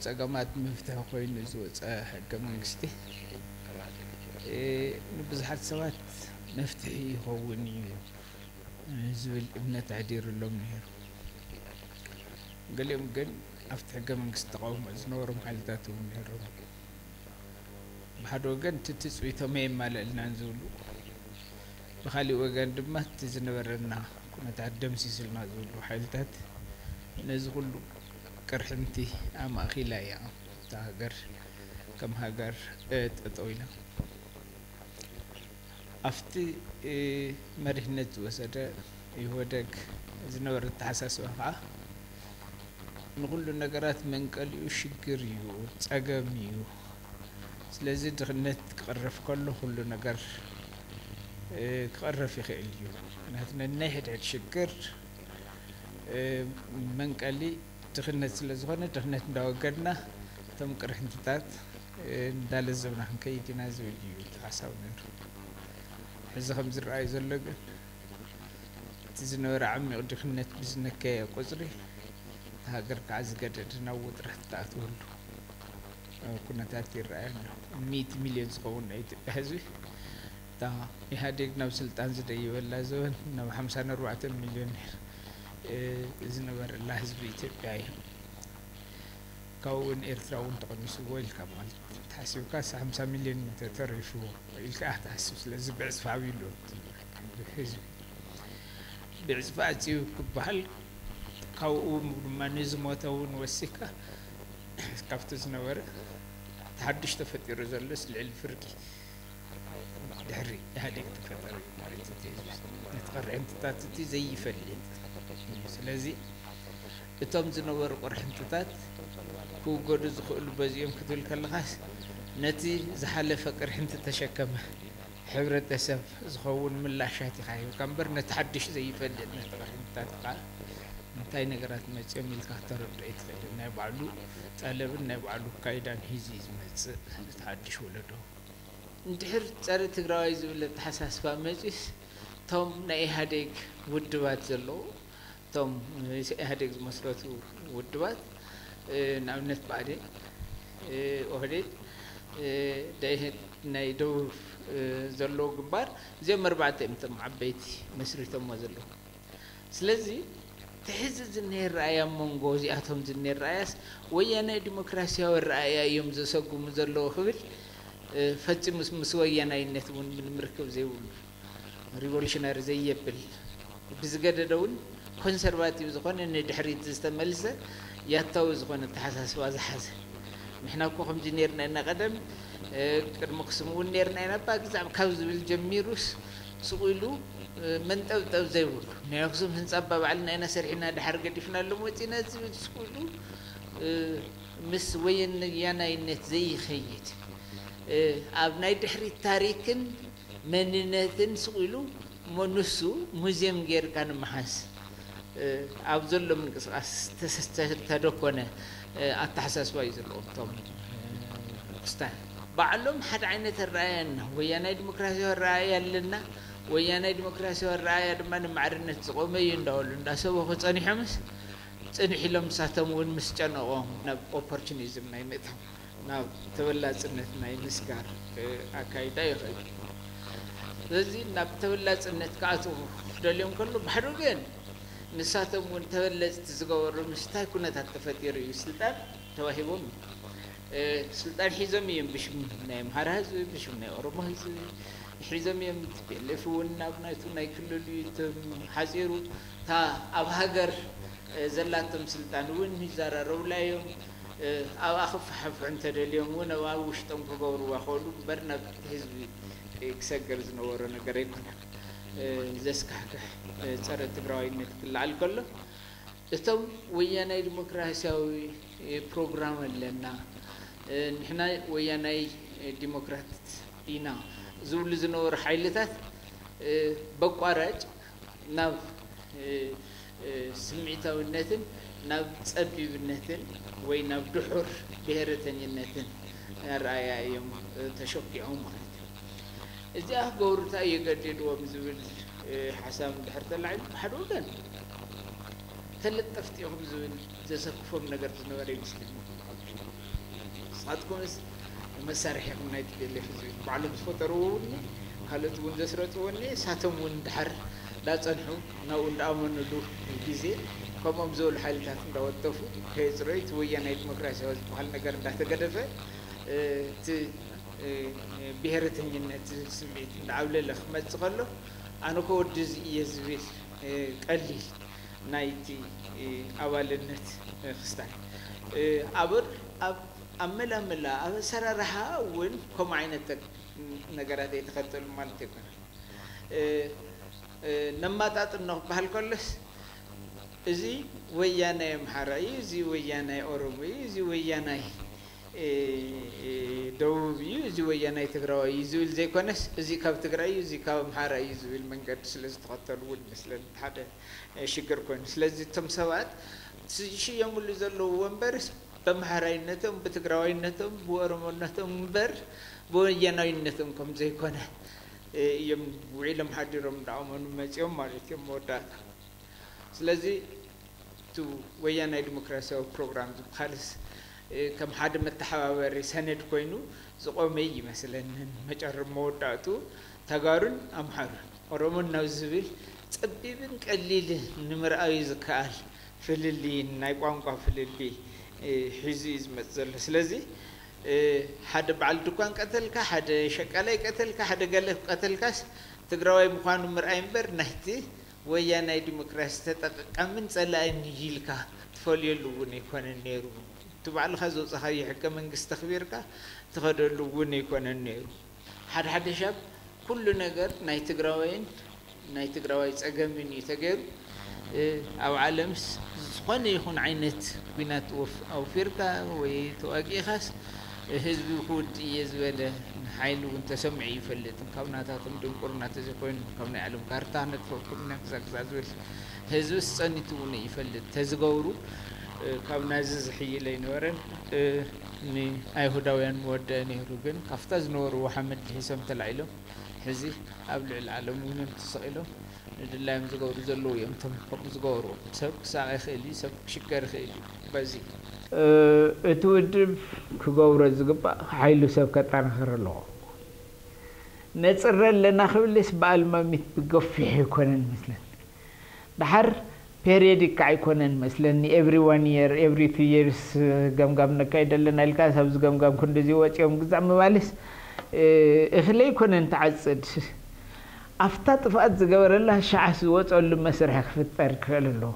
ጸገማት መፍትሒ ኮይኑ ዝወጸ ሕገ መንግስቲ፣ እ፣ ንብዙሓት ሰባት መፍትሒ ይኸውን እዩ ዝብል እምነት ኣሕዲሩሎም ነይሩ። ገሊኦም ግን ኣብቲ ሕገ መንግስቲ ተቃውሞ ዝነበሮም ሓይልታት እውን ነይሮም። ብሓደ ወገን እቲ ትጽቢቶም የማልእልናን ዝብሉ፣ ብኻሊእ ወገን ድማ እቲ ዝነበረና ኩነታት ደምሲስልና ዝብሉ ሓይልታት ነዚ ኩሉ ቅርሕንቲ ኣማእኪላ እያ እታ ሃገር ከም ሃገር፣ እ፣ ጠጠው ኢላ። ኣብቲ፣ እ፣ መሪሕነት ዝወሰደ ኢህወደግ ዝነበረ ኣተሓሳስባ ከዓ ንኹሉ ነገራት መንቀሊኡ ሽግር እዩ፣ ጸገም እዩ። ስለዚ ድኽነት ክቕረፍ ከሎ ኩሉ ነገር፣ እ፣ ክቕረፍ ይኽእል እዩ። ምክንያቱ ነናይ ሕድሕድ ሽግር፣ እ፣ መንቀሊ ድኽነት ስለ ዝኾነ ድኽነት እንዳወገድና እቶም ቅርሕንትታት፣ እ፣ እንዳለዘብና ክንከይድ ኢና ዝብል እዩ እቲ ሓሳብ ነይሩ። ሕዚ ከም ዝረኣዩ ዘሎ ግን እቲ ዝነበረ ዓሚቕ ድኽነት ብዝነከየ ቁጽሪ፣ እታ ሃገር ከዓ ዝገደደ ናብ ውጥረት ትኣትወሉ ኩነታት ይረኣይ ኣሎ። ሚእቲ ሚልዮን ዝኸውን ናይ ኢትዮጵያ ህዝቢ፣ እታ ኢህኣዴግ ናብ ስልጣን ዝደየበላ ዘበን ናብ ሓምሳን ኣርባዕተን ሚልዮን ነይሩ፣ እ፣ ዝነበረላ ህዝቢ ኢትዮጵያ እዩ። ካብኡ እውን ኤርትራ እውን ተቐኒስዎ ኢልካ ማለት እዩ። ተሓሲብካ ሓምሳ ሚልዮን ተተሪፉ ኢልካ ትሓስብ። ስለዚ ብዕጽፊ ዓብዩ ኣሎ ህዝቢ። ብዕጽፊ ኣጽዩ ክበሃል፣ ካብኡ ድማ ንዝሞተ እውን ወሲካ ካብቲ ዝነበረ ተሓድሽ ተፈጢሩ ዘሎስ ልዕሊ ፍርቂ ድሕሪ ኢህኣዴግ ተፈጠረ እዩ ማለት እዩ። ነቲ ቅርሕንትታት እቲ ዘይፈልጥ እዩ። ስለዚ እቶም ዝነበሩ ቅርሕንትታት ክውገዱ ዝኽእሉ በዚኦም ክትብል ከለኻስ ነቲ ዝሓለፈ ቅርሕንቲ ተሸከመ ሕብረተሰብ ዝኸውን ምላሻት ኢኻ ሂብካ እምበር ነቲ ሓድሽ ዘይፈልጥ ነቲ ቅርሕንትታት ከዓ እንታይ ነገራት መፂኦም ኢልካ ክተረድኦ ኣይትኽእልን። ናይ ባዕሉ ጠለብን ናይ ባዕሉ ኣካይዳን ሒዙ እዩ ዝመፅእ እቲ ሓድሽ ወለዶ። እንድሕር ጸረ ትግራዋይ ዝብል ኣተሓሳስባ መጺኡስ፣ እቶም ናይ ኢህኣዴግ ውድባት ዘለዉ፣ እቶም ኢህኣዴግ ዝመስረቱ ውድባት፣ እ፣ ንኣብነት ብኣዴን፣ እ፣ ኦህዴድ፣ እ፣ ደኢህድ ናይ ደቡብ፣ እ፣ ዘለዉ ግንባር፣ እዚኦም ኣርባዕተ እዮም እቶም ዓበይቲ መስሪቶሞ ዘለዉ። ስለዚ፣ እቲ ሕዚ ዝኒሀ ረኣያ ኣብ መንጎ እዚኣቶም ዝኒሀ ረኣያስ፣ ወያናይ ዲሞክራሲያዊ ረኣያ እዮም ዘሰጉሙ ዘለዉ ክብል፣ እ፣ ፈጺሙ ምስ ወያናይነት እውን ምንም ርክብ ዘይብሉ፣ ሪቮሉሽነሪ ዘየብል፣ ብዝገደደ እውን ኮንሰርቫቲቭ ዝኾነ ንድሕሪት ዝተመልሰ ያታዊ ዝኾነ ኣተሓሳስባ ዝሓዘ። ንሕና እኮ ከምዚ ኔርና ኢና ቀደም፣ እ፣ ቅድሚ ኣኽሱም እውን ኔርና ኢና፣ እባ ግዛዕ ካብ ዝብል ጀሚሩስ ስቕ ኢሉ፣ እ፣ መንጠብጠብ ዘይብሉ። ናይ ኣኽሱም ህንጻ እባ ባዕልና ኢና ሰሪሕና ድሓር ገዲፍናሎም ወጺና ዝብል ስቕ ኢሉ፣ እ፣ ምስ ወያናይነት ዘይኸይድ፣ እ፣ ኣብ ናይ ድሕሪት ታሪክን መንነትን ስቕ ኢሉ እሞ ንሱ ሙዝየም ጌርካ ንምሓዝ፣ እ፣ ኣብ ዘሎ ምንቅስቓስ ተስ-፣ ተ-፣ ተደኮነ፣ እ፣ ኣተሓሳስባ እዩ ዘለዎም እቶም፣ እ፣ ክስታይ። ባዕሎም ሓደ ዓይነት ኣረኣእያ እና ወያናይ ዲሞክራሲያዊ ኣረኣእያ ኣለና፣ ወያናይ ዲሞክራሲያዊ ኣረኣእያ ድማ ንማዕርነት ዝቖመ እዩ እንዳበሉ እንዳሰበኹ ጸኒሖምስ፣ ጽንሕ ኢሎም ንሳቶም እውን ምስ ጨነቖም ናብ ኦፖርቹኒዝም ናይ ምእታው፣ ናብ ተበላጽነት ናይ ምስጋር፣ እ፣ ኣካይዳ ይኸዱ። ስለዚ ናብ ተበላጽነት ክኣትዉ ክደልዮም ከሎ፣ ብሓደ ወገን ንሳቶም እውን ተበለጽቲ ዝገበሩ ምስታይ ኩነታት ተፈጢሩ እዩ። ስልጣን ተዋሂቦም እዩ። እ፣ ስልጣን ሒዞም እዮም ብሽም ናይ ኣምሓራ ህዝቢ፣ ብሽም ናይ ኦሮሞ ህዝቢ ሒዞም እዮም። ቲ ፒ ኤል ኤፍ እውን ናብ ናይቱ ናይ ክልሉ እዩ ተም-፣ ሓጺሩ። እታ ኣብ ሃገር፣ እ፣ ዘላቶም ስልጣን እውን ይዘራረቡላ እዮም። እ፣ ኣብኣ ክፈሓፍሑ እንተደልዮም እውን ኣብኣ ውሽጦም ክገብርዋ ክእሉ እምበር ናብ ህዝቢ፣ እ፣ ክሰገር ዝነበሮ ነገር ኣይኮነን። እ፣ ዘስካሕክሕ፣ እ፣ ጸረ ትግራዋይነት ክለዓል ከሎ እቶም ወያናይ ዲሞክራሲያዊ፣ እ፣ ፕሮግራም ኣለና፣ እ፣ ንሕና ወያናይ፣ እ፣ ዲሞክራት ኢና ዝብሉ ዝነበሩ ሓይልታት፣ እ፣ በቋራጭ ናብ፣ እ፣ እ፣ ስምዒታዊነትን ናብ ጸቢብነትን ወይ ናብ ድሑር ብሄረተኝነትን ኣረኣእያ እዮም፣ እ፣ ተሸኪዖም ማለት እዩ። እዚኣ ክገብሩ እንታይ እዩ ገዲድዎም ዝብል፣ እ፣ ሓሳብ እንድሕር ተላዒሉ፣ ብሓደ ወገን ተለጠፍቲ ኢኹም ዝብል ዘሰክፎም ነገር ዝነበረ ይመስለኒ። ናትኩምስ መሳርሒ ኢኹም ናይ ቲ ፒ ኤል ኤፍ፣ እዚ ባዕሎም ዝፈጠርዎ እውን ካልኦት እውን ዘስረጥዎ እኒ ሳቶም እውን ድሓር እንዳፀንሑ ናብኡ እንዳኣመኑሉ ግዜ ከምኦም ዝበሉ ሓይልታት እንዳወጠፉ ከየፅረዩ እቲ ወያናይ ዲሞክራሲያዊ ዝበሃል ነገር እንዳተገደፈ እቲ ብሄረተኝነት ስምዒት እንዳዓብለለ ክመፅእ ከሎ ኣነ ኮ ወዲ እዚ እየ ዝብል ቀሊል ናይቲ ኣባልነት ክስታይ ኣብ ኣብ መላመላ ኣብ ኣሰራርሓ እውን ከምኡ ዓይነት ነገራት ኣይተኸተሉ ማለት ኣይኮነን። ነማጣጥኖ ክበሃል ከሎስ እዚ ወያናይ ኣምሓራ እዩ፣ እዚ ወያናይ ኦሮሞ እዩ፣ እዚ ወያናይ ደቡብ እዩ፣ እዚ ወያናይ ትግራዋይ እዩ ዝብል ዘይኮነስ እዚ ካብ ትግራይ እዩ፣ እዚ ካብ ኣምሓራ እዩ ዝብል መንገዲ ስለ ዝተኸተሉ እውን ይመስለኒ ሓደ ሽግር ኮይኑ። ስለዚ እቶም ሰባት ዝሽየምሉ ዘለዉ ወንበርስ ብኣምሓራይነቶም ብትግራዋይነቶም ብኦሮሞነቶም እምበር ብወያናዊነቶም ከም ዘይኮነ እዮም ውዒሎም ሓዲሮም እንዳኣመኑ መፂኦም ማለት እዮም መወዳእታ። ስለዚ እቲ ወያናይ ዲሞክራሲያዊ ፕሮግራም ዝበሃልስ ከም ሓደ መተሓባበሪ ሰነድ ኮይኑ ዝቆመ ይመስለንን መጨር መወዳእቱ ተጋሩን ኣምሓሩን ኦሮሞን ናብ ዝብል ፀቢብን ቀሊልን ንምርኣዩ ዝከኣል ፍልልይን ናይ ቋንቋ ፍልልይ ሒዙ እዩ ዝመፅእ ዘሎ። ስለዚ ሓደ በዓል ድኳን ቀተልካ፣ ሓደ ሸቃላይ ቀተልካ፣ ሓደ ገለ ቀተልካስ ትግራዋይ ምዃኑ ምርኣይ እምበር ናይቲ ወያናይ ዲሞክራሲ ተጠቃምን ፀላእን ኢልካ ትፈልየሉ እውን ኣይኮነን ነይሩ። እቲ ባዕልኻ ዘውፃኻዮ ሕገ መንግስቲ ተኽቢርካ ትኸደሉ እውን ኣይኮነን ነይሩ። ሓደ ሓደ ሻብ ኩሉ ነገር ናይ ትግራዋይን ናይ ትግራዋይ ፀገምን እዩ ተገይሩ። ኣብ ዓለምስ ዝኾነ ይኹን ዓይነት ኲናት ኣውፊርካ ወይ ተዋጊእኻስ ህዝቢ ክውድእ እየ ዝበለ ሓይሊ እውን ተሰሚዑ ይፈልጥ። ካብ ናታቶም ድንቁርና ተዘይኮይኑ ካብ ናይ ዓለም ካርታ ነጥፈኩም ኢና ግዛ ግዛ ዝብል ህዝብስ ፀኒቱ እውን ይፈልጥ። ተዝገብሩ ካብ ናዚ ዝሕይል ኣይነበረን። ንኣይሁዳውያን መወደአ ነይሩ፣ ግን ካብታ ዝነበርዎ ሓመድ ልሒሶም ተላዒሎም ሕዚ ኣብ ልዕሊ ዓለም እውን ተሰቒሎም ንድላዮም ዝገብሩ ዘለዉ እዮም። እቶም ከምኡ ዝገብሩ ሰብ ክሳቐ ይኽእል እዩ፣ ሰብ ክሽገር ይኽእል እዩ። በዚ እቲ ውድብ ክገብሮ ዝግባእ ሓይሉ ሰብ ከጠናኽር ኣለዎ። ነፅረ ኣለና ክብልስ ብኣልማሚት ብገፊሕ ኣይኮነን መስለኒ። ደሓር ፔሪዮዲክ ከዓ ኣይኮነን መስለኒ። ኤቭሪ ዋን የር ኤቭሪ ቱ የርስ ገምጋም ነካይድ ኣለና ኢልካ ኣብዚ ገምጋም ክንድዚ ወፂኦም ግዛዕ ምባልስ እኽለ ኣይኮነን ትዓፅድ። ኣብታ ጥፍኣት ዝገበረላ ሸዓስ ዝወፀሉ መስርሒ ክፍጠር ክኽእል ኣለዎ።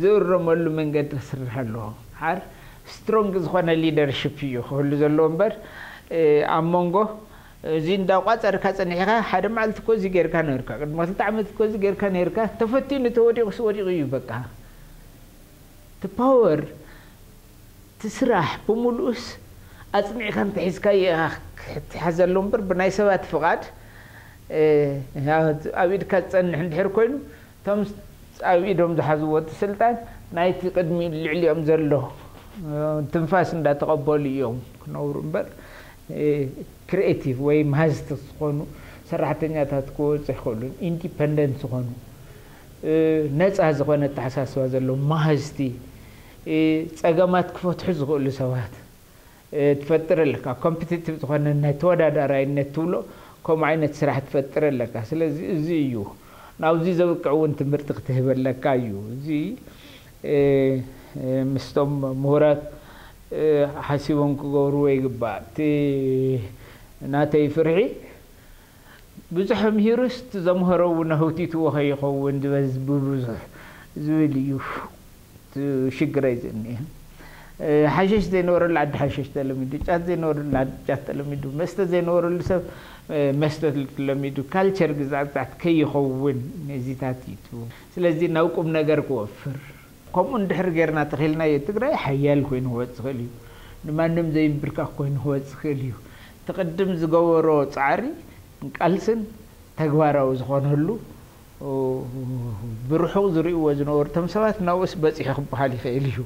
ዝእረመሉ መንገዲ ክስርሕ ኣለዎ። ሓር ስትሮንግ ዝኾነ ሊደርሽፕ እዩ ክህሉ ዘለዎ እምበር ኣብ መንጎ እዚ እንዳቋፀርካ ፀኒሕካ ሓደ መዓልቲ እኮ እዚ ጌርካ ነርካ፣ ቅድሚ ክልተ ዓመት እኮ እዚ ጌርካ ነርካ፣ ተፈቲኑ ተወዲቑስ ወዲቑ እዩ በቃ። እቲ ፓወር እቲ ስራሕ ብምሉኡስ ኣፅኒዕካ እንተሒዝካዮ ኢኻ ክትሓዘሉ እምበር ብናይ ሰባት ፍቓድ ኣብ ኢድካ ዝፀንሕ እንድሕር ኮይኑ እቶም ኣብ ኢዶም ዝሓዝዎ እቲ ስልጣን ናይቲ ቅድሚ ልዕሊኦም ዘሎ ትንፋስ እንዳተቐበሉ እዮም ክነብሩ እምበር ክሪኤቲቭ ወይ መሃዝቲ ዝኾኑ ሰራሕተኛታት ክወፁ ኣይኽእሉን። ኢንዲፐንደንት ዝኾኑ ነፃ ዝኾነ ኣተሓሳስባ ዘለዎም መሃዝቲ ፀገማት ክፈትሑ ዝኽእሉ ሰባት ትፈጥር ኣለካ። ኮምፒቲቲቭ ዝኾነ ናይ ተወዳዳራይነት ትብሎ ከምኡ ዓይነት ስራሕ ትፈጥር ኣለካ። ስለዚ እዚ እዩ ናብዚ ዘብቅዕ እውን ትምህርቲ ክትህብ ኣለካ እዩ። እዚ ምስቶም ምሁራት ሓሲቦም ክገብርዎ ይግባእ። እቲ ናተይ ፍርሒ ብዙሕ ምሂሩስ እቲ ዘምሀሮ እውን ኣህውቲትዎ ከይኸውን ዝበዝ ብብዙሕ ዝብል እዩ። ሽግረይ ዝኒሀ ሓሸሽ ዘይነበረሉ ዓዲ ሓሸሽ ተለሚዱ፣ ጫት ዘይነበረሉ ዓዲ ጫት ተለሚዱ፣ መስተ ዘይነበረሉ ሰብ መስተ ለሚዱ፣ ካልቸር ግዛዕ ግዛዕት ከይኸውን ነዚታት እዩ። ስለዚ ናብ ቁም ነገር ክወፍር ከምኡ እንድሕር ጌርና ተኺልናዮ ትግራይ ሓያል ኮይኑ ክወፅእ ይኽእል እዩ። ንማንም ዘይንብርካኽ ኮይኑ ክወፅእ ይኽእል እዩ። እቲ ቅድም ዝገበሮ ፃዕሪ ቃልስን ተግባራዊ ዝኾነሉ ብርሑቕ ዝርእይዎ ዝነበሩ እቶም ሰባት ናብኡስ በፂሑ ክበሃል ይኽእል እዩ።